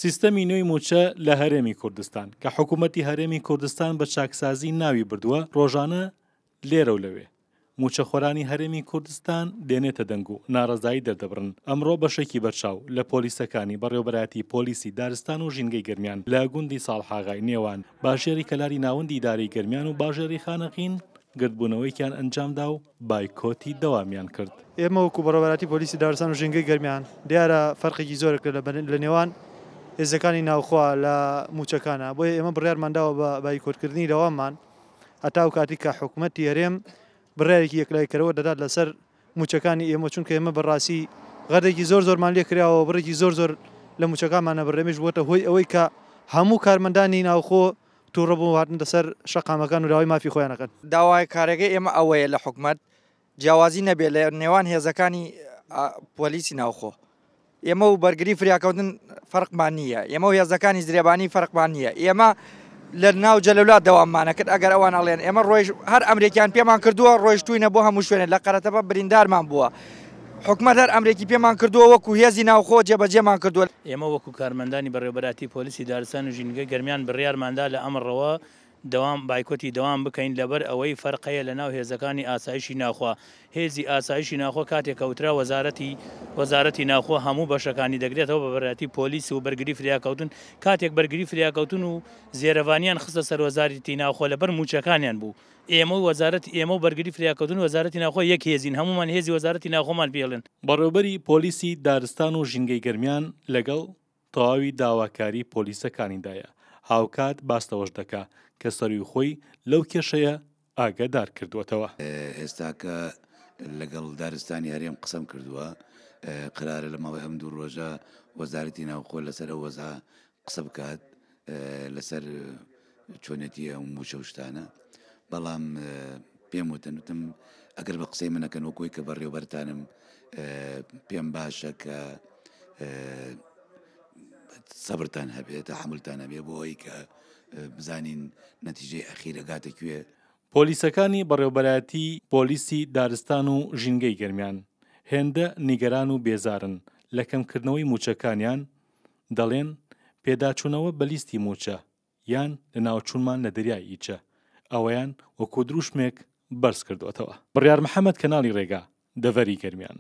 سیستەمی نوێی مووچە لە هەرێمی کوردستان، کە حکوومەتی هەرێمی کوردستان بە چاکسازی ناوی بردووە، ڕۆژانە لێرە و لەوێ مووچەخۆرانی هەرێمی کوردستان دێنێتە دەنگ و ناڕەزایی دەردەبڕن. ئەمڕۆ بەشێکی بەرچاو لە پۆلیسەکانی بەڕێوەبەرایەتی پۆلیسی دارستان و ژینگەی گەرمیان لە گوندی ساڵحاغای نێوان باژێڕی کەلاری ناوەندی ئیدارەی گەرمیان و باژێڕی خانەقین گردبوونەوەیەکیان ئەنجامدا و بایکۆتی دەوامیان کرد. ئێمە وەکو بەڕێوەبەرایەتی پۆلیسی دارستان و ژینگەی گەرمیان دیارە فەرقێکی زۆرە لە نێوان هێزەکانی ناوخۆ لە مووچەکانا، بۆیە ئێمە بڕیارمان داوە بە بایکۆتکردنی دەواممان هەتا ئەو کاتەی کە حکومەتی هەرێم بڕیارێکی یەکلاییکەرەوە دەدات لەسەر مووچەکانی ئێمە، چونکە ئێمە بەڕاستی غەردێکی زۆر زۆرمان لێ کراوە، بڕێکی زۆر زۆر لە مووچەکانمان نەبڕێ، ئەمەیش بووەتە هۆی ئەوەی کە هەموو کارمەندانی ناوخۆ تووڕە بوون و هاتنەتە سەر شەقامەکان و داوای مافی خۆیان ئەکەن. داواکاریەکەی ئێمە ئەوەیە لە حکومەت جیاوازی نەبێت لە نێوان هێزەکانی پۆلیسی ناوخۆ. ئێمە و بەرگری فریاکەوتن فەرقمان نییە، ئێمە و هێزەکانی زرێبانی فەرقمان نییە، ئێمە لە ناو جەلەولا دەواممانە کرد، ئەگەر ئەوان ئەڵێن ئێمە ڕۆیش هەر ئەمرێکیان پێمان کردووە ڕۆیشتوینە بۆ هەموو شوێنێک لە قەرەتەپە بریندارمان بووە، حکومەت هەر ئەمرێکی پێمان کردووە وەکو هێزی ناوخۆ جێبەجێمان کردووە. ئێمە وەکو کارمەندانی بەڕێوەبەرایەتی پۆلیسی دارستان و ژینگەی گەرمیان بڕیارماندا لە ئەمڕەوە دەوام بایکۆتی دەوام بکەین لەبەر ئەوەی فەرق هەیە لەناو هێزەکانی ئاسایشی ناوخۆ هێزی ئاسایشی ناوخۆ کاتێک کە وترا وەزارەتی وەزارەتی ناوخۆ هەموو بەشەکانی دەگرێتەوە بە بەرایەتی پۆلیس و بەرگری فریاکەوتن کاتێک بەرگری فریاکەوتن و زێرەڤانیان خستە سەر وەزارەتی ناوخۆ لەبەر مووچەکانیان بوو ئێمە و وەزارەتی ئێمە و بەرگری فریاکەوتن و وەزارەتی ناوخۆ یەک هێزین هەموومان هێزی وەزارەتی ناوخۆمان پێڵێن. بەڕێوبەری پۆلیسی دارستان و ژینگەی گەرمیان لەگەڵ تەواوی داواکاری پۆلیسەکانیدایە، هاوکات باس لەوەش دەکا کە سەرووی خۆی لەو کێشەیە ئاگادار کردووەتەوە. ئێستاکە لەگەڵ دارستانی هەرێم قسەم کردووە، قەرارە لە ماوەی ئەم دوو ڕۆژە وەزارەتی ناوخۆ لەسەر ئەو وەزعە قسە بکات لەسەر چۆنێتی ئەو مووچە و شتانە، بەڵام پێم وتن وتم ئەگەر بە قسەی منەکەن وەکۆی کە بەڕێوبەرتانم پێم باشە کە سەبرتان هەبێت تەحەمولتان هەبێ بۆ ئەوەی کە بزانین نەتیجەی ئەخیر ئەگاتە کوێ. پۆلیسەکانی بەڕێوبەرایەتی پۆلیسی دارستان و ژینگەی گەرمیان هێندە نیگەران و بێزارن لە کەمکردنەوەی مووچەکانیان، دەڵێن پێداچوونەوە بە لیستی مووچە یان لەناوچوونمان لە دەریای ئیچە ئەوەیان وەکو دروشمێک بەرزکردووەتەوە. بڕیار محەمەد کەناڵی رێگا، دەڤەری گەرمیان.